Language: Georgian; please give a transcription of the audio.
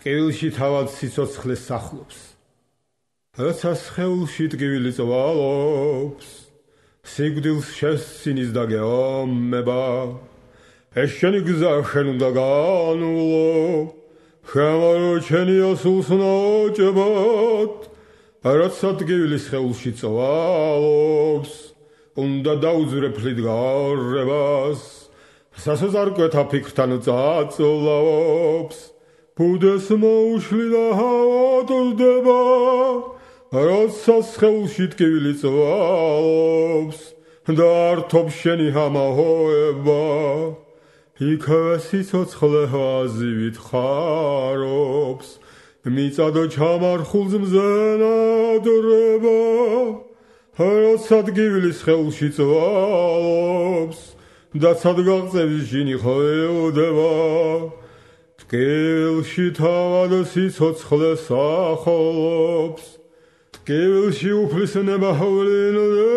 ტკივილში თავად სიცოცხლეს სახლობს. როცა სხეულში ტკივილი წვალობს, სიკვდილს შესცინის და გეომება, ეს შენი გზა შენ უნდა განვლო, შემარო ჩენია სულს ნაჭებად, როცა ტკივილი სხეულში წვალობს, უნდა დაუძვრე ფლით გარებას, სასოწარკვეთა ფიქრთან წაწლავს, ბუდეს მოუშლი და ავადდება, როცა სხეულში ტკივილი წვალობს და ართობს შენი ამაოება, იქავე სიცოცხლე აზივით ხარობს, მიწადო ჩამარხულს მზენადრება, როცა ტკივილი სხეულში წვალობს და ცადგაღწევის ჟინი ხვევდება, ტკივილში თავად სიცოცხლე სახლობს, ტკივილში უფლის ნება ვლინდება.